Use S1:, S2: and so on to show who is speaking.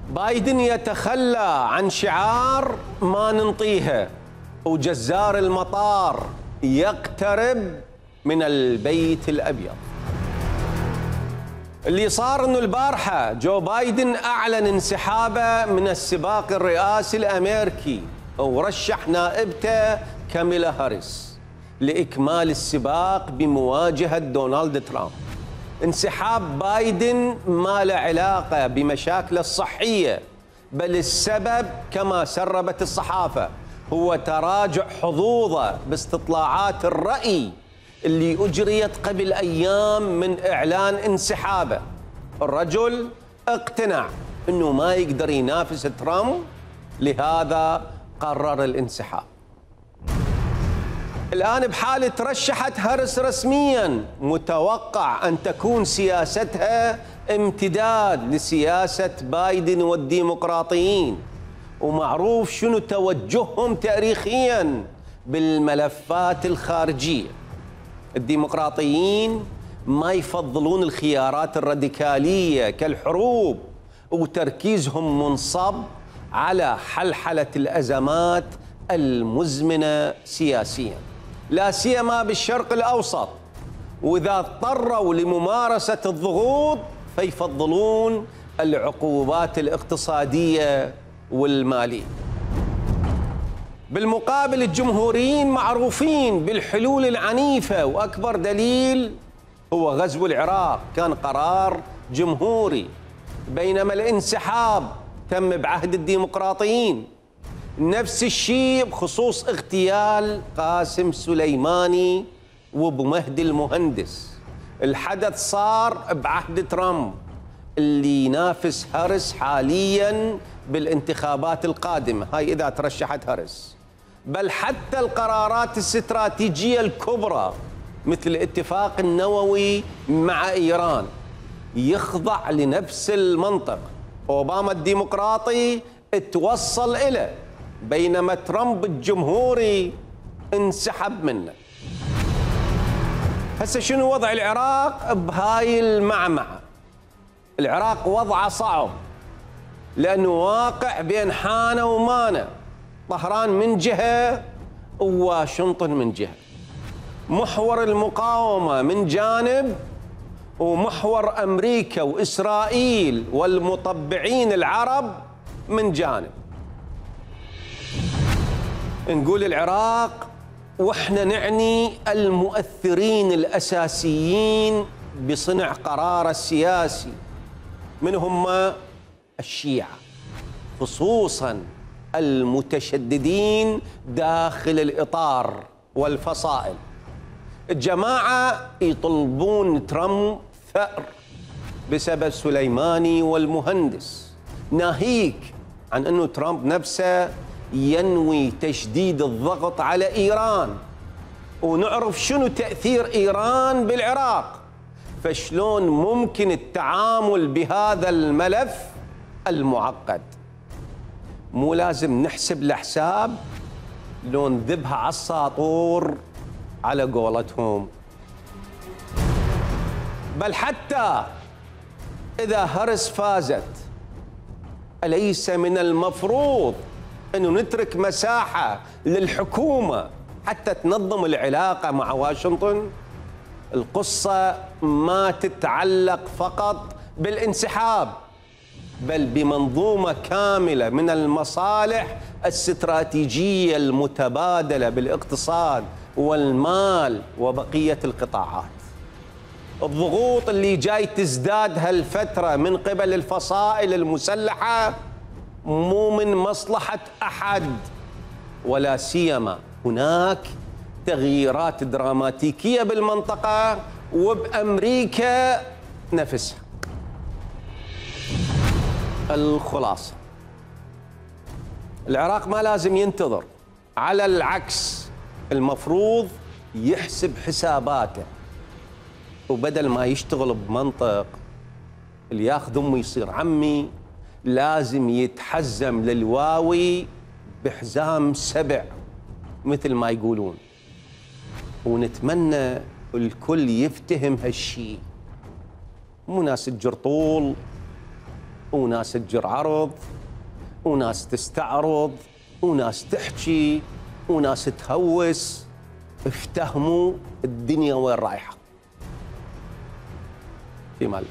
S1: بايدن يتخلى عن شعار ما ننطيها، وجزار المطار يقترب من البيت الأبيض. اللي صار انه البارحة جو بايدن اعلن انسحابه من السباق الرئاسي الامريكي ورشح نائبته كاميلا هاريس لاكمال السباق بمواجهة دونالد ترامب. انسحاب بايدن ما له علاقة بمشاكله الصحية، بل السبب كما سربت الصحافة هو تراجع حظوظه باستطلاعات الرأي اللي أجريت قبل أيام من إعلان انسحابه. الرجل اقتنع أنه ما يقدر ينافس ترامب، لهذا قرر الانسحاب. الآن بحالة ترشحت هاريس رسمياً، متوقع أن تكون سياستها امتداد لسياسة بايدن والديمقراطيين، ومعروف شنو توجههم تاريخياً بالملفات الخارجية. الديمقراطيين ما يفضلون الخيارات الراديكالية كالحروب، وتركيزهم منصب على حلحلة الأزمات المزمنة سياسياً، لا سيما بالشرق الأوسط، وإذا اضطروا لممارسة الضغوط فيفضلون العقوبات الاقتصادية والمالية. بالمقابل الجمهوريين معروفين بالحلول العنيفة، وأكبر دليل هو غزو العراق كان قرار جمهوري، بينما الانسحاب تم بعهد الديمقراطيين. نفس الشيء بخصوص اغتيال قاسم سليماني وابو مهدي المهندس. الحدث صار بعهد ترامب اللي ينافس هاريس حاليا بالانتخابات القادمة، هاي إذا ترشحت هاريس. بل حتى القرارات الاستراتيجية الكبرى مثل الاتفاق النووي مع إيران يخضع لنفس المنطق. أوباما الديمقراطي اتوصل إليه، بينما ترامب الجمهوري انسحب منه. هسه شنو وضع العراق بهاي المعمعة؟ العراق وضعه صعب لأنه واقع بين حانة ومانة، طهران من جهة وواشنطن من جهة، محور المقاومة من جانب ومحور أمريكا وإسرائيل والمطبعين العرب من جانب. نقول العراق وإحنا نعني المؤثرين الأساسيين بصنع قرار السياسي، من هم؟ الشيعة، خصوصاً المتشددين داخل الإطار والفصائل. الجماعة يطلبون ترامب ثأر بسبب سليماني والمهندس، ناهيك عن أنه ترامب نفسه ينوي تشديد الضغط على إيران، ونعرف شنو تأثير إيران بالعراق. فشلون ممكن التعامل بهذا الملف المعقد؟ مو لازم نحسب الحساب لو نذبها على الساطور على قولتهم. بل حتى إذا هاريس فازت، أليس من المفروض أنه نترك مساحة للحكومة حتى تنظم العلاقة مع واشنطن؟ القصة ما تتعلق فقط بالانسحاب، بل بمنظومة كاملة من المصالح الاستراتيجية المتبادلة بالاقتصاد والمال وبقية القطاعات. الضغوط اللي جاي تزداد هالفترة من قبل الفصائل المسلحة مو من مصلحة أحد، ولا سيما هناك تغييرات دراماتيكية بالمنطقة وبأمريكا نفسها. الخلاصة، العراق ما لازم ينتظر، على العكس المفروض يحسب حساباته، وبدل ما يشتغل بمنطق اللي ياخذ امي يصير عمي، لازم يتحزم للواوي بحزام سبع مثل ما يقولون. ونتمنى الكل يفتهم هالشيء، مو ناس الجرطول وناس تجر عرض، وناس تستعرض، وناس تحكي، وناس تهوس. افتهموا الدنيا وين رايحه. في مال